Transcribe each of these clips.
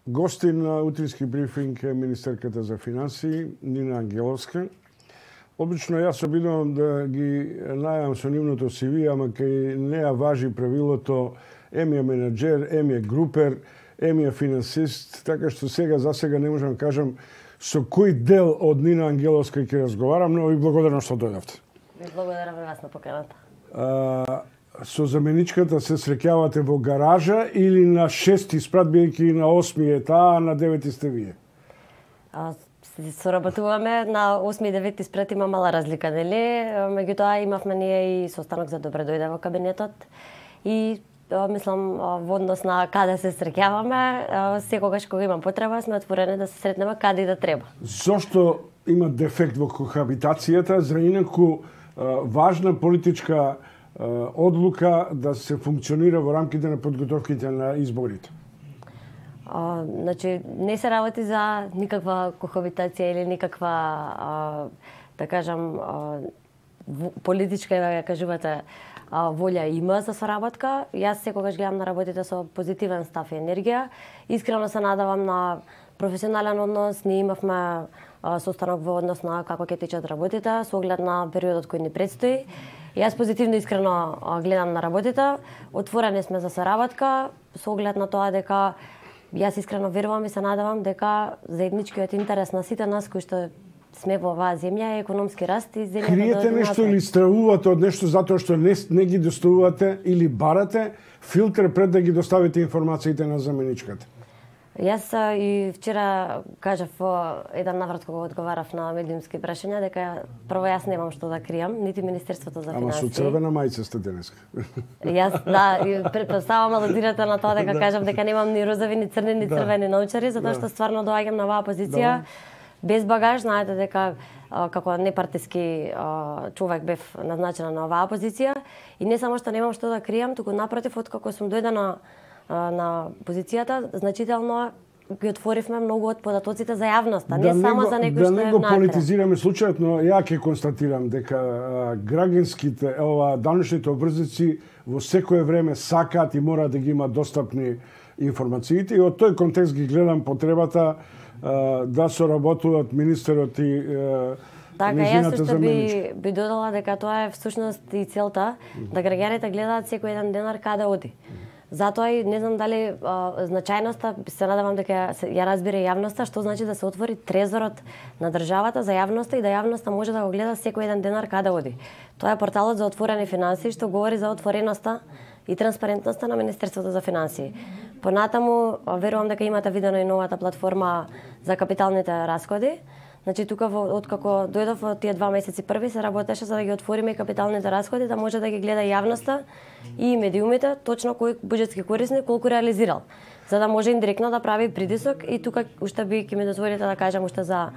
Гости на утрински брифинг е министерката за финансии Нина Ангеловска. Обично јас обидувам да ги најавам со нивното CV, ама кај неа важи правилото ем е менаџер, ем е групер, ем е финансист, така што за сега не можам да кажам со кој дел од Нина Ангеловска ќе разговарам, но ви благодарам што дојдовте. Ви благодарам и вас на поканата. Со заменичката се среќавате во гаража или на 6-ти спрат, бијајќи на 8-ми е таа, а на 9-ти сте вие? Соработуваме на 8 и 9 спрат, има мала разлика, нели? Меѓутоа имавме ние и состанок за добре дојде во кабинетот и мислам во однос на каде се среќаваме, секогаш кога имам потреба сме отворени да се сретнеме каде и да треба. Зошто има дефект во кохабитацијата, за инаку важна политичка одлука да се функционира во рамките на подготовките на изборите? Значи, не се работи за никаква кохабитација или никаква, да кажам, политичка, да кажувате, волја има за соработка. Јас секогаш гледам на работите со позитивен став и енергија. Искрено се надавам на професионален однос. Ние имавме состанок во однос на како ќе течат работите, со оглед на периодот кој ни предстои. Јас позитивно искрено гледам на работите. Отворени сме за соработка, со оглед на тоа дека јас искрено верувам и се надавам дека заедничкиот интерес на сите нас кои што сме во оваа земја е економски раст и земјата. Криете нешто или стравувате од нешто затоа што не ги доставувате или барате филтер пред да ги доставите информациите на заменичката? Јас и вчера кажав во еден наврат кога одговарав на медиумски прашања дека прво јас немам што да кријам, нити Министерството за финансии. Ама со црвена мајца сте денеска. Јас и претпоставам алудирате на тоа дека кажам дека немам ни розови, ни црни, ни црвени научари, затоа што стварно доаѓам на оваа позиција без багаж. Знаете дека како непартиски човек бев назначена на оваа позиција и не само што немам што да кријам, туку напротив, откако сум дојдена на позицијата, значително ги отворивме многу од податоците за јавноста, не само за некој што е Да не го политизираме случајот, но ја ќе констатирам дека граѓанските, данъчните обврзници во секое време сакаат и мора да ги имаат достапни информациите и од тој контекст ги гледам потребата да соработуваат министерот и така, јас што би додала дека тоа е всушност и целта, да граѓаните гледаат секој еден денар каде оди. Затоа и не знам дали значајноста, се надевам дека ја разбира јавноста, што значи да се отвори трезорот на државата за јавноста и да јавноста може да го гледа секој еден денар каде оди. Тоа е порталот за отворени финансии што говори за отвореноста и транспарентноста на Министерството за финансии. Понатаму верувам дека имате видено и новата платформа за капиталните расходи. Значи тука откако дојдов во тие 2 месеци први се работеше за да ги отвориме и капиталните расходи, да може да ги гледа јавноста и медиумите точно кој буџетски корисник колку реализирал, за да може индиректно да прави притисок и тука уште би ќе ми дозволите да кажам уште за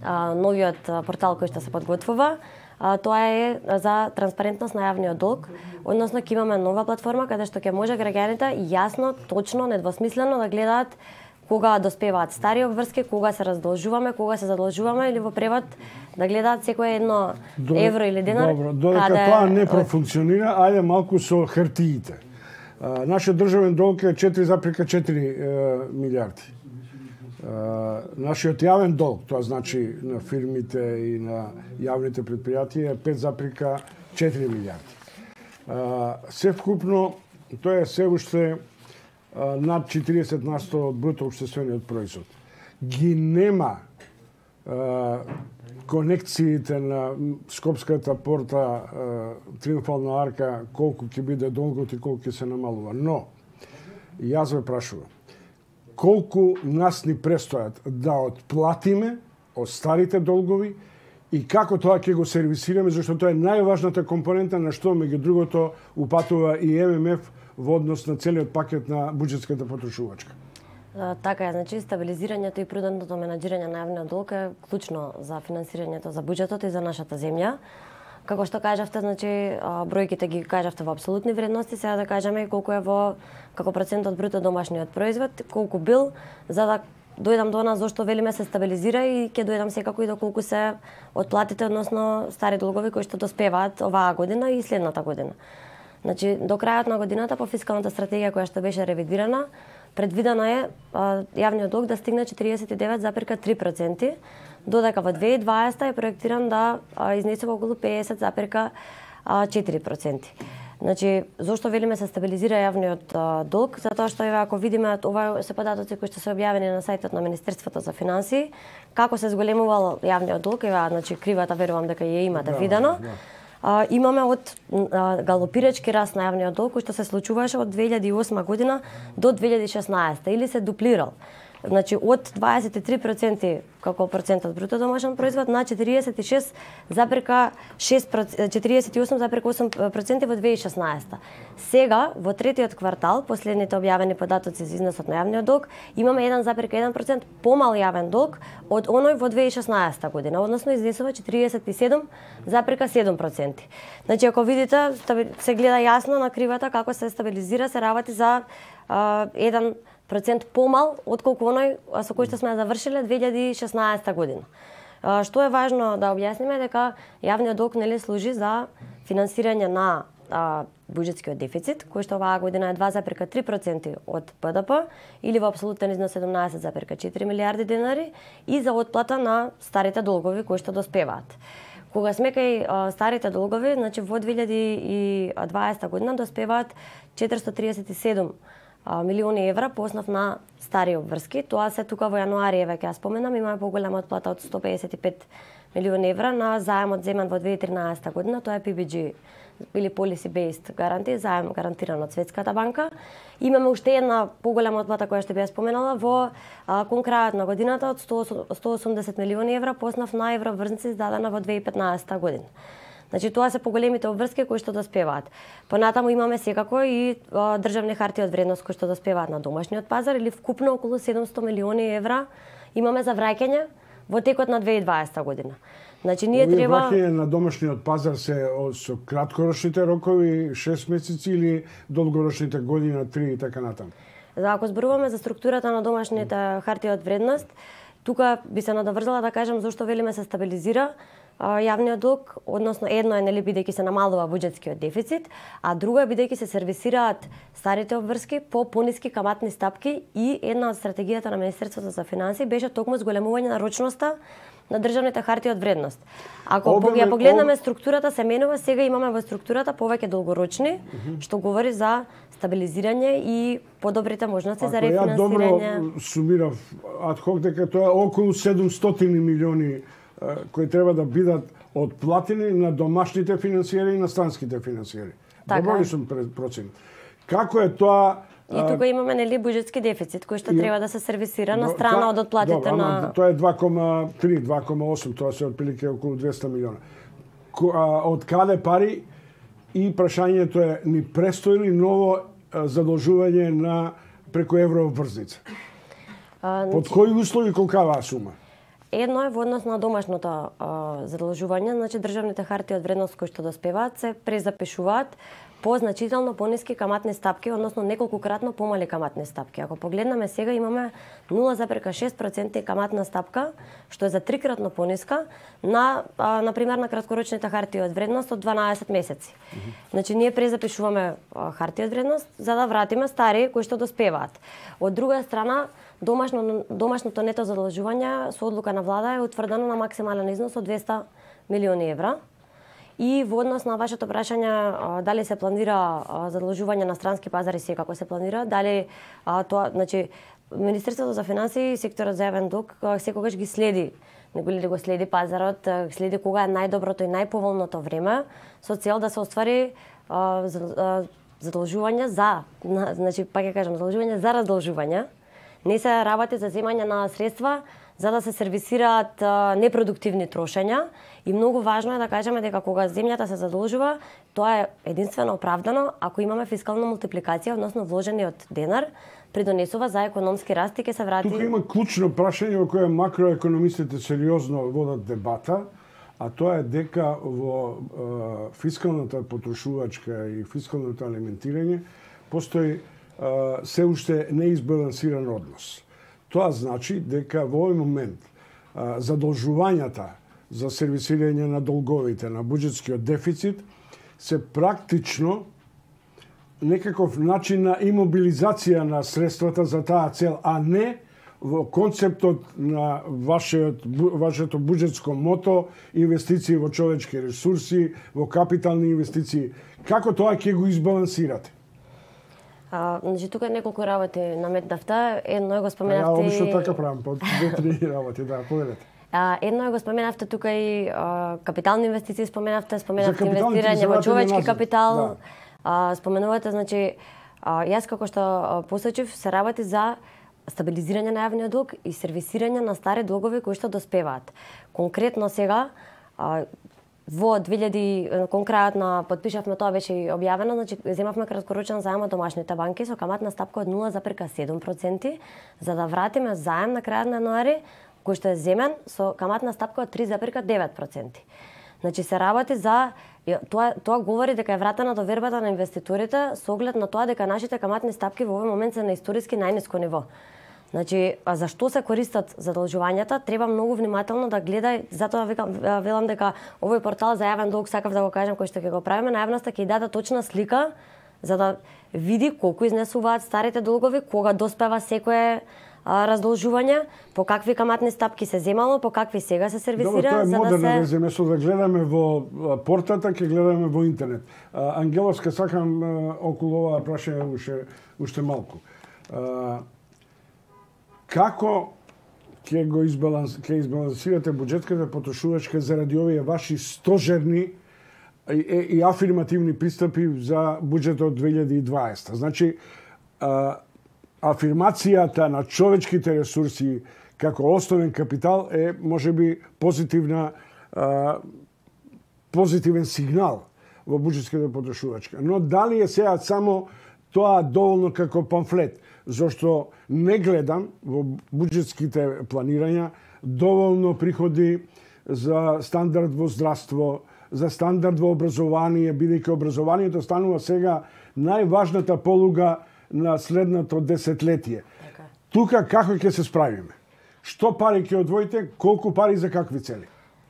новиот портал кој што се подготвува. Тоа е за транспарентност на јавниот долг, односно ќе имаме нова платформа каде што ќе може граѓаните јасно, точно, недвосмислено да гледаат кога доспеваат стари обврски, кога се раздолжуваме, кога се задолжуваме или во превод да гледаат секое едно евро или денар. Добро, додека тоа не профункционира, ајде малку со хартиите. Нашиот државен долг е 4,4 милиарди. Нашиот јавен долг, тоа значи на фирмите и на јавните предпријатија, е 5,4 милиарди. Севкупно, тоа е се уште над 40% од бруто општествениот производ. Ги нема конекциите на Скопската порта, Триумфална арка, колку ќе биде долгот и колку ќе се намалува. Но, јас ве прашувам, колку нас ни престојат да отплатиме од старите долгови и како тоа ќе го сервисираме, зашто тоа е најважната компонента на што меѓу другото упатува и ММФ во однос на целиот пакет на буџетската потрошувачка. Така е, значи стабилизирањето и прудентното менаџирање на јавниот долг е клучно за финансирањето за буџетот и за нашата земја. Како што кажавте, значи бројките ги кажавте во апсолутни вредности, сега да кажеме колку е како процент од бруто домашниот производ, колку бил, за да дојдам до нас зошто велиме се стабилизира и ќе дојдам секако и до колку се отплатите, односно стари долгови кои што доспеваат оваа година и следната година. Значи, до крајот на годината по фискалната стратегија која што беше ревидирана, предвидено е јавниот долг да стигне 49,3%, додека во 2020 е проектиран да изнесе околу 50,4%. Значи, зошто велиме се стабилизира јавниот долг? Затоа што ако видиме, ова се податоци кои што се објавени на сајтот на Министерството за финансии, како се зголемувал јавниот долг, значи кривата верувам дека ја имате видено. Имаме од галопирачки раст на јавниот долг кој што се случуваше од 2008 година до 2016 или се дуплирал. Значи од 23% како процент од бруто домашен производ на 48,8% во 2016. Сега во третиот квартал, последните објавени податоци за износот на јавниот долг, имаме 1,1% помал јавен долг од оној во 2016 година, односно изнесува 47,7%. Значи ако видите, се гледа јасно на кривата како се стабилизира, се работи за 1% помал отколку оној со кој што сме завршиле 2016 година. Што е важно да објасниме дека јавниот долг нели служи за финансирање на буџетскиот дефицит, кој што оваа година е 2,3% од БДП или во апсолутен износ 17,4 милиарди денари и за отплата на старите долгови кои што доспеваат. Кога сме кај старите долгови, значи во 2020 година доспеваат 437 милиони евра по основ на стари обврски. Тоа се тука во јануари, веќе ја споменам, имаме поголема отплата од 155 милиони евра на заемот земен во 2013 година, тоа е PBG или Policy Based Guarantee, заем гарантиран од Светската банка. Имаме уште една поголема отплата која што би ја споменала во кон крајот на годината од 180 милиони евра по основ на еврообврзници издадена во 2015 година. Значи тоа се поголемите обврски кои што доспеваат. Понатаму имаме секако и државни хартии од вредност кои што доспеваат на домашниот пазар или вкупно околу 700 милиони евра имаме за враќање во текот на 2020 година. Значи ние треба враќање на домашниот пазар се со краткорочните рокови 6 месеци или долгорочните година 3 и така натаму. Ако зборуваме за структурата на домашните хартии од вредност, тука би се надоврзала да кажам зошто велиме се стабилизира јавниот долг, односно едно е нели бидејќи се намалува буџетскиот дефицит, а друго е бидејќи се сервисираат старите обврски по пониски каматни стапки и една од стратегијата на Министерството за финансии беше токму зголемување на рочноста на државните хартии од вредност. Ако ја погледнеме структурата се менува, сега имаме во структурата повеќе долгорочни, што говори за стабилизирање и подобрите можности за рефинансирање. Ја добро сумирав адхок дека тоа е околу 700 милиони кои треба да бидат отплатени на домашните финансиери и на странските финансиери. Добро ли сум проценет? Како е тоа? И тука имаме нели буџетски дефицит кој што треба да се сервисира на страна од отплатите на. Тоа е 2,3, 2,8, тоа се отприлike околу 200 милиона. Од каде пари? И прашањето е ни престои ли ново задолжување на преку еврообврзница? Под кои услови колкава сума? Едно е во однос на домашното задолжување, значи државните хартии од вредност кои што доспеваат се презапишуваат по значително пониски каматни стапки, односно неколкукратно помали каматни стапки. Ако погледнеме сега имаме 0,6% каматна стапка, што е за трикратно пониска на пример на краткорочните хартии од вредност од 12 месеци. Значи ние презапишуваме хартии од вредност за да вратиме стари кои што доспеваат. Од друга страна, домашното нето задолжување со одлука на влада е утврдено на максимален износ од 200 милиони евра. И во однос на вашето прашање дали се планира задолжување на странски пазари, секако се планира, дали тоа, значи Министерството за финансии и секторот за јавен долг секогаш ги следи, го следи пазарот, следи кога е најдоброто и најповолното време со цел да се оствари задолжување за, значи пак ќе кажам, задолжување за раздолжување. Не се работи за земање на средства за да се сервисираат непродуктивни трошења и многу важно е да кажеме дека кога земјата се задолжува, тоа е единствено оправдано ако имаме фискална мултипликација, односно вложениот денар придонесува за економски раст и ќе се врати. Тука има клучно прашање во кое макроекономистите сериозно водат дебата, а тоа е дека во фискалната потрошувачка и фискалното алиментирање постои се уште неизбалансиран однос. Тоа значи дека во овој момент задолжувањата за сервисирање на долговите, на буџетскиот дефицит, се практично некаков начин на имобилизација на средствата за таа цел, а не во концептот на вашето буџетско мото, инвестиции во човечки ресурси, во капитални инвестиции. Како тоа ќе го избалансирате? Значи, тука неколку работи наметнавте. Едно е го споменавте... Ја обично така правам, по 2-3 работи, да, поведете. Едно е го споменавте тука и капитални инвестиции споменавте инвестирање во човечки капитал. Да. Споменувате, значи, јас како што посочив, се работи за стабилизирање на јавниот долг и сервисирање на стари долгови кои што доспеваат. Конкретно сега, во 2000, кон крајот на подпишавме, тоа беше и објавено, значи земавме краткорочен заем од домашните банки со каматна стапка од 0,7%, за да вратиме заем на крајот на януари, кој што е земен со каматна стапка од 3,9%. Значи се работи за тоа говори дека е вратена довербата на инвеститорите со оглед на тоа дека нашите каматни стапки во овој момент се на историски најниско ниво. Значи, зашто се користат задолжувањата, треба многу внимателно да гледа, затоа велам дека овој портал за јавен долг, сакав да го кажам, кој што ќе го правиме на јавноста, ќе даде точна слика за да види колку изнесуваат старите долгови, кога доспева секое раздолжување, по какви каматни стапки се земало, по какви сега се сервисира. Добро, тоа е модерно да место да гледаме во портата, ќе гледаме во интернет. Ангеловска, сакам околу оваа прашање уште малку. Како ќе избалансирате буџетската потрошувачка заради овие ваши стожерни и афирмативни пристапи за буџетот 2020? Значи, афирмацијата на човечките ресурси како основен капитал е можеби позитивен сигнал во буџетската потрошувачка. Но дали е сега само тоа доволно како памфлет? Зошто не гледам во буџетските планирања доволно приходи за стандард во здравство, за стандард во образование, бидејќи образованието станува сега најважната полуга на следното десетлетие. Тука како ќе се справиме? Што пари ќе одвоите, колку пари за какви цели?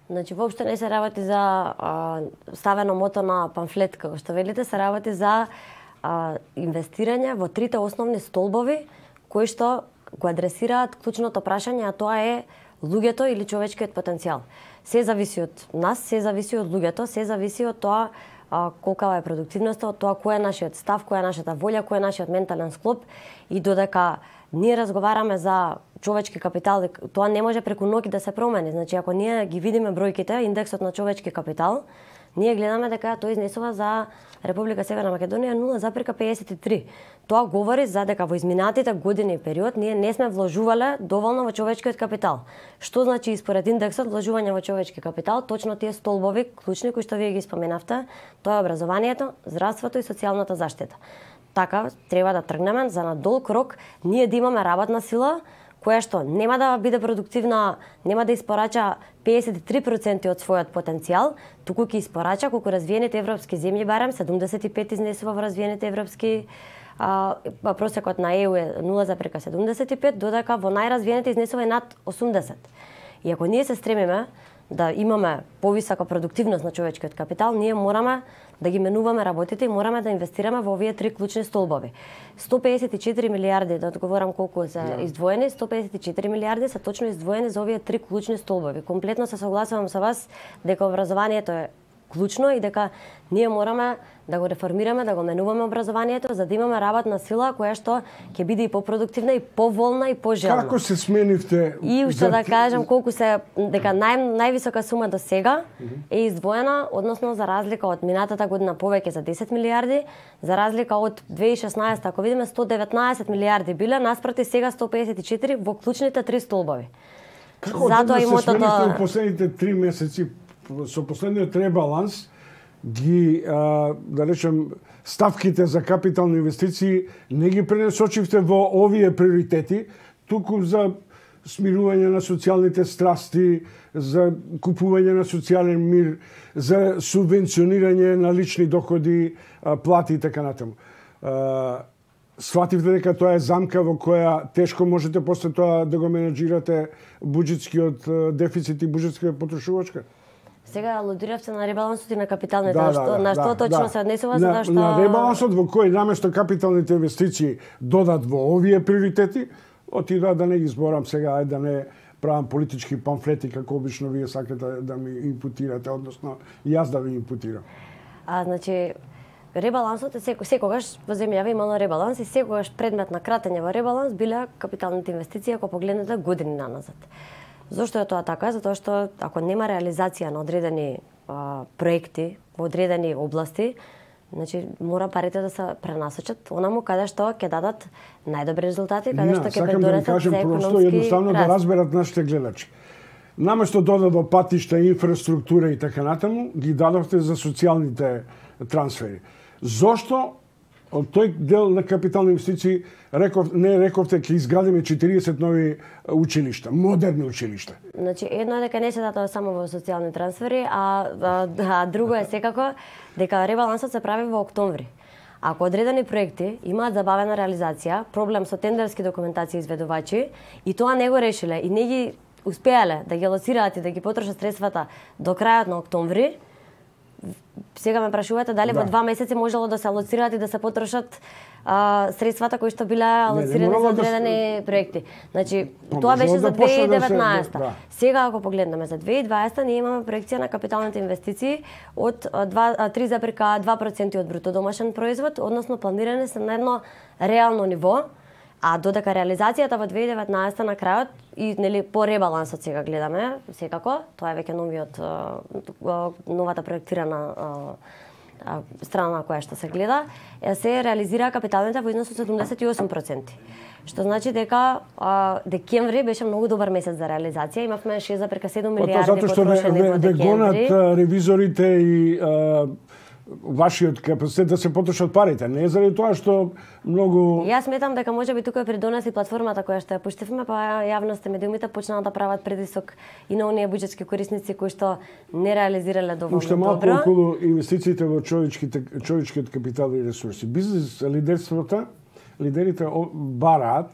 Значи, воопшто не се работи за ставено мото на памфлет, како што велите, се работи за инвестирање во трите основни столбови кои што го адресираат клучното прашање, а тоа е луѓето или човечкиот потенцијал. Се зависи од нас, се зависи од луѓето, се зависи од тоа колкава е продуктивноста, од тоа кој е нашиот став, која е нашата волја, кој е нашиот ментален склоп, и додека ние разговараме за човечки капитал, тоа не може преку ноќ да се промени. Значи, ако ние ги видиме бројките, индексот на човечки капитал, ние гледаме дека тој изнесува за Република Северна Македонија 0,53. Тоа говори за дека во изминатите години и период ние не сме вложувале доволно во човечкиот капитал. Што значи според индексот вложување во човечки капитал? Точно тие столбови клучни кои што вие ги споменавте, тоа е образованието, здравството и социјалната заштита. Така треба да тргнеме за на долг рок ние да имаме работна сила која што нема да биде продуктивна, нема да испорача 53% од својот потенцијал, туку ќе испорача колку развиените европски земји, барем 75 изнесува во развиените европски, просекот на ЕУ е 0,75, додека во најразвиените изнесува и над 80. И ако ние се стремиме да имаме повисока продуктивност на човечкиот капитал, ние мораме да ги менуваме работите и мораме да инвестираме во овие три клучни столбови. 154 милиарди, да одговорам колку се издвоени, 154 милиарди се точно издвоени за овие три клучни столбови. Комплетно се согласувам со вас дека образованието е клучно и дека ние мораме да го реформираме, да го менуваме образованието, за да имаме работна сила која што ќе биде и попродуктивна, и поволна, и пожелна. Како се сменивте? И уште да кажам колку се дека највисока сума до сега е издвоена, односно за разлика од минатата година повеќе за 10 милиарди, за разлика од 2016, ако видиме 119 милиарди биле, наспроти сега 154 во клучните три столбови. Како затоа се сменивте во последните 3 месеци со последниот ребаланс ги, да речем, ставките за капитални инвестиции не ги пренесочивте во овие приоритети, туку за смирување на социјалните страсти, за купување на социјален мир, за субвенционирање на лични доходи, плати и така натаму. Свативте дека тоа е замка во која тешко можете после тоа да го менеджирате буџетскиот дефицит и буџетската потрошувачка? Сега алудиравте на ребалансот и на капиталните, на што точно се однесува, затоа што на ребалансот во кој наместо капиталните инвестиции додат во овие приоритети, отидоа да не ги зборам сега, да не правам политички памфлети како обично вие сакате да ми импутирате, односно јас да ви импутирам. Значи ребалансот е секогаш во земјава имало ребаланс и секогаш предмет на кратење во ребаланс биле капиталните инвестиции ако погледнете години наназад. Зошто е тоа така? Затоа што ако нема реализација на одредени проекти во одредени области, значи мора парите да се пренасочат онаму каде што ќе дадат најдобри резултати, каде што ќе придонесат за економски просто едноставно да разберат нашите гледачи. Наместо додат во патишта, инфраструктура и така натаму, ги дадовте за социјалните трансфери. Зошто од тој дел на капитални инвестиции рековте ќе изградиме 40 нови училишта, модерни училишта? Значи едно е дека не се датоа само во социјални трансфери, а друго е секако дека ребалансот се прави во октомври. Ако одредени проекти имаат забавена реализација, проблем со тендерски документации изведувачи и тоа не го решиле и не ги успеале да ги лоцираат и да ги потрошат средствата до крајот на октомври, сега ме прашувате дали во 2 месеци можело да се алоцираат и да се потрошат средствата кои што биле алоцирани за одредени проекти. Значи, тоа беше за 2019. Сега ако погледнеме за 2020, ние имаме проекција на капиталните инвестиции од 3,2% од бруто домашен производ, односно планирани се на едно реално ниво. А додека реализацијата во 2019 на крајот и нели по ребалансот сега гледаме, секако, тоа е веќе новата проектирана страна на која што се гледа, се реализира капиталните во износ од 78%. Што значи дека декември беше многу добар месец за реализација, имавме 6,7 милиарди потрошени во декември. Гонат ревизорите и вашиот капацитет да се потрошат парите, не е заради тоа што многу... Јас сметам дека можеби тука придонеси платформата која што ја пуштивме, па јавноста и медиумите почнаа да прават притисок и на оние буџетски корисници кои што не реализирале доволно добро. Уште малку околу инвестициите во човечкиот капитал и ресурси. Бизнес лидерите бараат,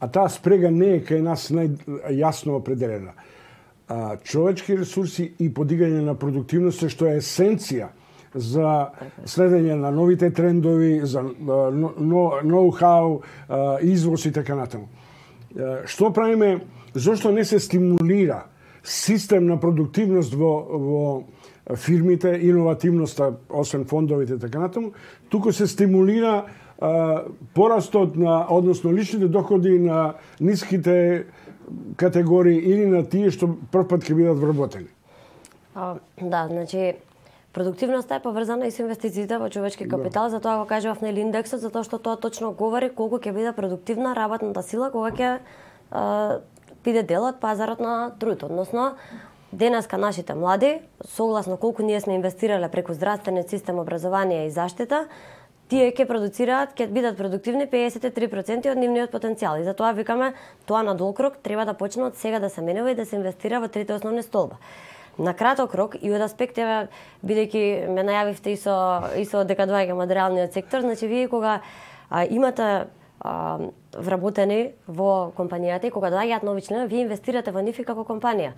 а таа спрега не е кај нас најјасно определена. Човечки ресурси и подигање на продуктивност што е есенција за следење на новите трендови, за ноу-хау, извоз и така натаму. Што правиме? Зошто не се стимулира систем на продуктивност во фирмите, иновативноста, освен фондовите и така натаму, туку се стимулира порастот на, односно личните доходи на ниските категории или на тие што првпат ќе бидат вработени? Да, значи продуктивноста е поврзана и со инвестициите во човечки капитал, затоа го кажував нели индексот, затоа што тоа точно говори колку ќе биде продуктивна работната сила кога ќе биде дел од пазарот на труд. Односно, денеска нашите млади, согласно колку ние сме инвестирале преку здравствениот систем, образование и заштита, тие ќе продуцираат, ќе бидат продуктивни 53% од нивниот потенцијал. И затоа викаме, тоа на долг рок треба да почне од сега да се менува и да се инвестира во трите основни столба. На краток рок и од аспект, бидејќи ме најавивте и со дека доаѓам од реалниот сектор, значи вие кога имате вработени во компанијата и кога доаѓаат нови членови, вие инвестирате во нив и како компанија.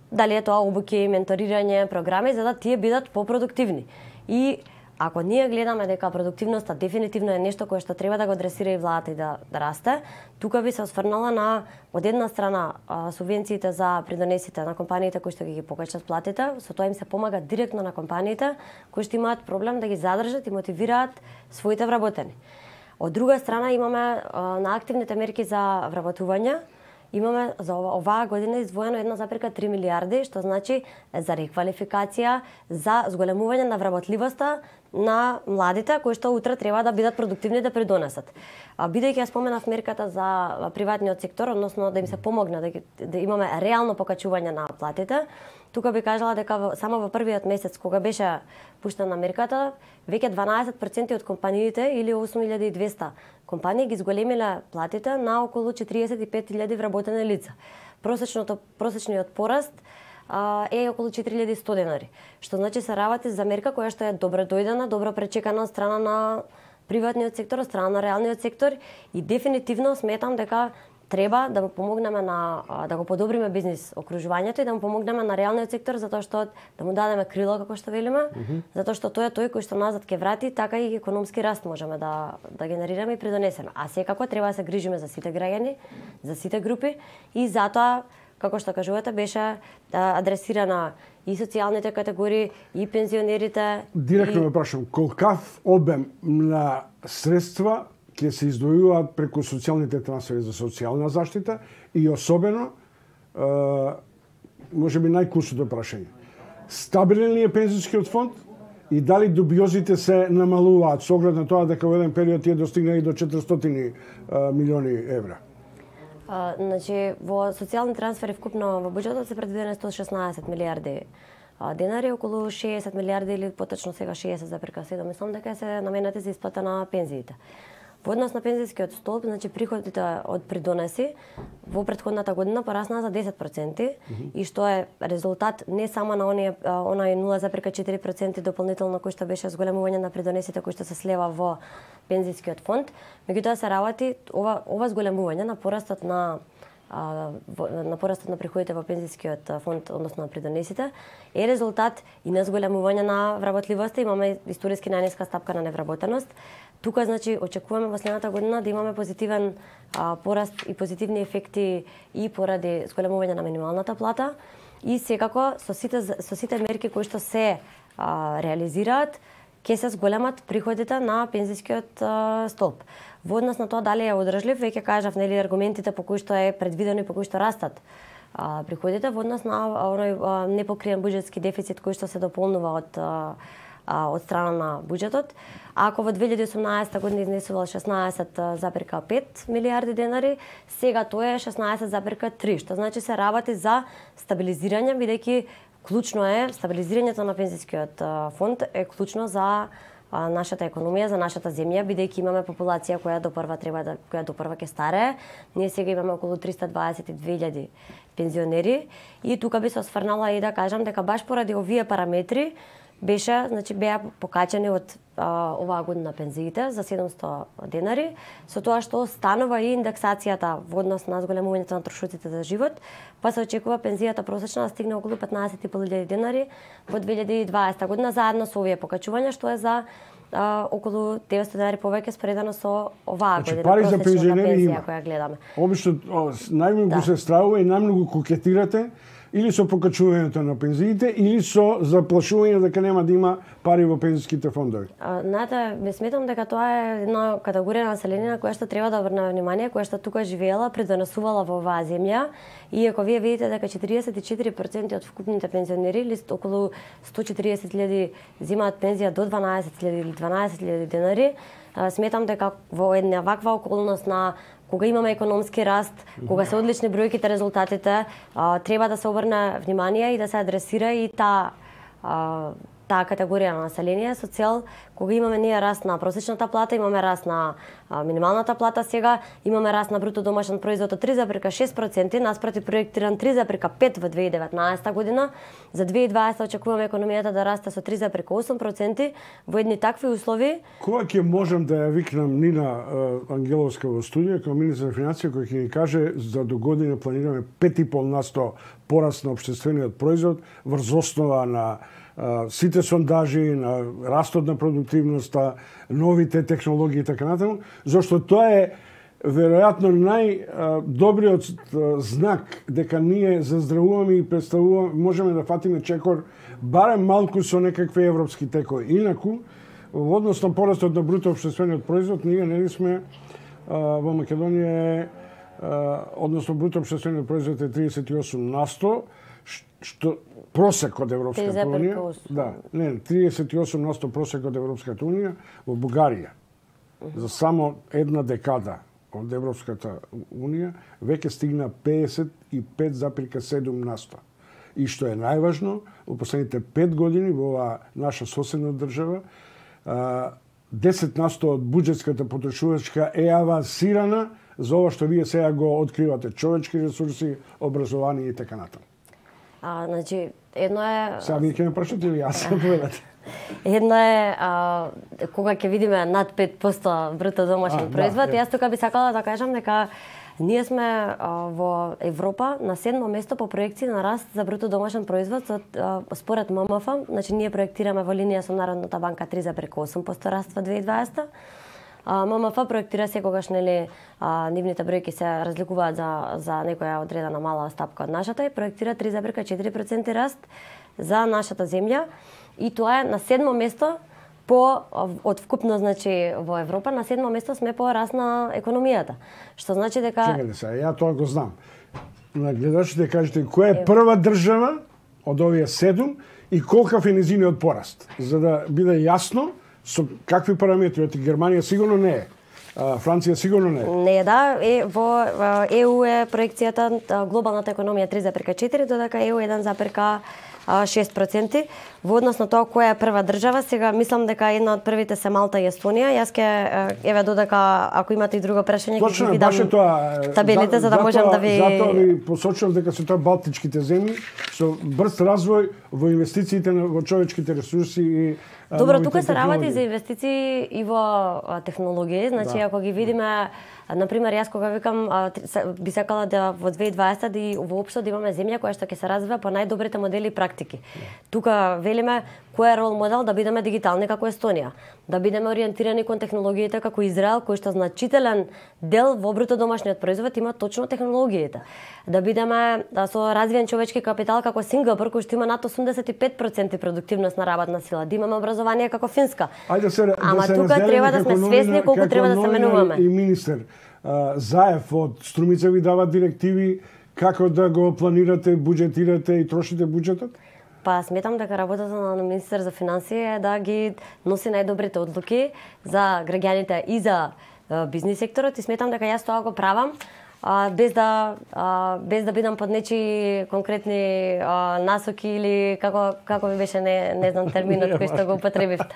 Дали е тоа обуки, менторирање, програми, за да тие бидат попродуктивни. И ако ние гледаме дека продуктивноста дефинитивно е нешто кое што треба да го адресира и владата и да расте, тука би се осврнала на од една страна субвенциите за придонесите на компаниите кои што ги покачат платите, со тоа им се помага директно на компаниите кои што имаат проблем да ги задржат и мотивираат своите вработени. Од друга страна имаме на активните мерки за вработување, имаме за оваа година издвоено 1,3 милиарди, што значи за реквалификација, за зголемување на вработливоста на младите кои што утре треба да бидат продуктивни да придонесат. Бидејќи ја споменав мерката за приватниот сектор, односно да им се помогне да имаме реално покачување на платите, тука би кажала дека само во првиот месец кога беше пуштена мерката, веќе 12% од компаниите или 8200 компании ги зголемиле платите на околу 45.000 вработени лица. Просечниот пораст е околу 4100 денари, што значи се работи за мерка која што е добро дојдена, добро пречекана од страна на приватниот сектор, од страна на реалниот сектор и дефинитивно сметам дека треба да му помогнеме да го подобриме бизнис окружувањето и да му помогнеме на реалниот сектор, затоа што да му дадеме крило, како што велиме, затоа што тој е тој кој што назад ќе врати, така и економски раст можеме да генерираме и придонесеме. А секако треба да се грижиме за сите граѓани, за сите групи и затоа, како што кажувате, беше адресирана и социјалните категории, и пензионерите. Директно ме прашам, колкав обем на средства ќе се издвојуваат преку социјалните трансфери за социјална заштита и особено, може би најкусото прашање, стабилен ли е пензионскиот фонд и дали дубиозите се намалуваат со оглед на тоа дека во еден период тие достигнаа и до 400 милиони евра? Значи, во социјални трансфери вкупно во буџетот се предвидени 116 милиарди денари, околу 60 милиарди или поточно сега 60,7, мислам дека се наменети за исплата на пензиите. Во однос на пензискиот столб, значи приходите од придонеси во претходната година пораснаа за 10% и што е резултат не само на онај 0,4% дополнително кој што беше зголемување на придонесите кој што се слева во пензискиот фонд, меѓутоа се работи ова зголемување на порастот на приходите во пензискиот фонд, односно на придонесите, е резултат и на зголемување на вработливоста. Имаме историски најниска стапка на невработеност. Тука, значи, очекуваме во следната година да имаме позитивен пораст и позитивни ефекти и поради зголемување на минималната плата и секако со сите мерки кои што се реализираат, ќе се зголемат приходите на пензискиот столб. Во однос на тоа дали е одржлив, веќе кажав, нели, аргументите по кои што е предвидено и по кои што растат приходите во однос на оној непокриен буџетски дефицит кој што се дополнува од страна на буџетот. Ако во 2018 година изнесувал 16,5 милиарди денари, сега тоа е 16,3, што значи се работи за стабилизирање, бидејќи клучно е стабилизирањето на пензискиот фонд е клучно за нашата економија, за нашата земја, бидејќи имаме популација која допрва ќе старее. Ние сега имаме околу 322.000 пензионери и тука би се осврнала и да кажам дека баш поради овие параметри беа покачени од оваа година пензиите за 700 денари, со тоа што станува и индексацијата во однос на зголемувањето на трошоците за живот, па се очекува пензијата просечна да стигне околу 15.500 денари во 2020 година, заедно со овие покачувања, што е за околу 900 денари повеќе споредено со оваа година просечна пензија која гледаме. Обично најмногу се стравува и најмногу кокетирате или со покачувањето на пензиите, или со заплашување дека нема да има пари во пензиските фондови? Знаете, ме сметам дека тоа е една категорија на население на која што треба да обрнеме внимание, која што тука живеела, придонесувала во оваа земја. И ако вие видите дека 44% од вкупните пензионери, или околу 140.000 земаат пензија до 12.000 или 12.000 денари, сметам дека во една ваква околност на кога имаме економски раст, кога се одлични бројките, резултатите, треба да се обрне внимание и да се адресира и таа категорија на население со цел кога имаме ние раст на просечната плата, имаме раст на минималната плата, сега имаме раст на бруто домашен производ од 3,6%, наспроти проектиран 3,5% во 2019 година. За 2020 очекуваме економијата да расте со 3,8% во едни такви услови. Кога ќе можам да ја викнам Нина Ангеловска во студија како министар на финансија, кој ќе ни каже за до година планираме 5,5% пораст на општествениот производ врз основа на сите сондажи, на растот на продуктивноста, новите технологии и така натаму, зашто тоа е веројатно најдобриот знак дека ние заздравуваме и представуваме, можеме да фатиме чекор барем малку со некакви европски текови. Инаку, во однос на порастот на бруто општествениот производ, ние нели сме во Македонија односно бруто општествениот производ е 38%, што просек од Европската унија, да, 38% просек од Европската унија, во Бугарија за само една декада од Европската унија веќе стигна 55,7%. И што е најважно, во последните 5 години во оваа наша соседна држава 10% од буџетската потрошувачка е авансирана за ова што вие сега го откривате, човечки ресурси, образование и така натаму. Значи, едно е... Сега вие ќе ме прашате или јас ќе поведате? Едно е кога ќе видиме над 5% бруто домашен производ, јас тука би сакала да кажам дека Ние сме во Европа на 7-мо место по проекција на раст за бруто домашен производ според ММФ. Значи ние проектираме во линија со Народната банка 3,8% раст во 2020. ММФ проектира секогаш, нели, нивните бројки се разликуваат за некоја одредена мала стапка од нашата и проектира 3,4% раст за нашата земја и тоа е на 7-мо место од вкупно, значи, во Европа, на 7-мо место сме по раст на економијата. Што значи дека... Чекајте се, ја тоа го знам. На гледачите кажете која е прва држава од овие 7 и колкав е низиниот пораст, за да биде јасно со какви параметри. Германија сигурно не е. Франција сигурно не е. Не, да, во ЕУ е проекцијата глобалната економија 3,4, додека ЕУ 1,6%. Во однос на тоа која е прва држава, сега мислам дека една од првите се Малта и Естонија. Јас ќе еве додека ако имате и друго прашање ќе ви дам табелите за да можам да ви... Затоа ви посочувам дека се тоа балтичките земји со брз развој во инвестициите во човечките ресурси и Добро, тука се работи за инвестиции и во технологии, значи ако ги видиме, например, јас кога викам би сакала да во 2020 да воопшто да имаме земја која што ќе се развива по најдобрите модели и практики. Тука велиме кој е рол модел да бидеме дигитални како Естонија, да бидеме ориентирани кон технологиите како Израел, кој што значителен дел во бруто домашниот производ има точно технологиите. Да бидеме со развиен човечки капитал како Сингапур, кој што има над 85% продуктивност на работна сила, да имаме образование како Финска. Ама тука треба да сме свесни колку треба да се менуваме. И министер Заев од Струмица ви дава директиви како да го планирате, буџетирате и трошите буџетот? Па сметам дека работата на министер за финансии е да ги носи најдобрите одлуки за граѓаните и за бизнис секторот и сметам дека јас тоа го правам без да бидам под нечи конкретни насоки или како ви беше не знам терминот кој што го употребивте.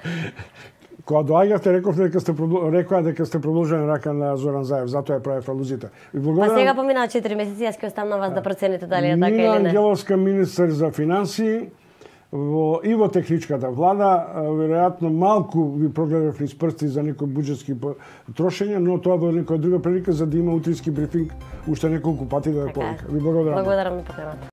Кога доаѓавте, рекоа дека сте продолжена рака на Зоран Заев, затоа ја правев алузита. Па сега поминаа 4 месеци, јас ќе оставам на вас да процените дали е така или не. Мила Ангеловска, министер за финансии, и во техничката влада, веројатно малку ви прогледав низ прсти за некои буџетски трошења, но тоа во некоја друга прилика за да има утрински брифинг уште неколку пати да ја повика. Ви благодарам. Благодарам на поканата.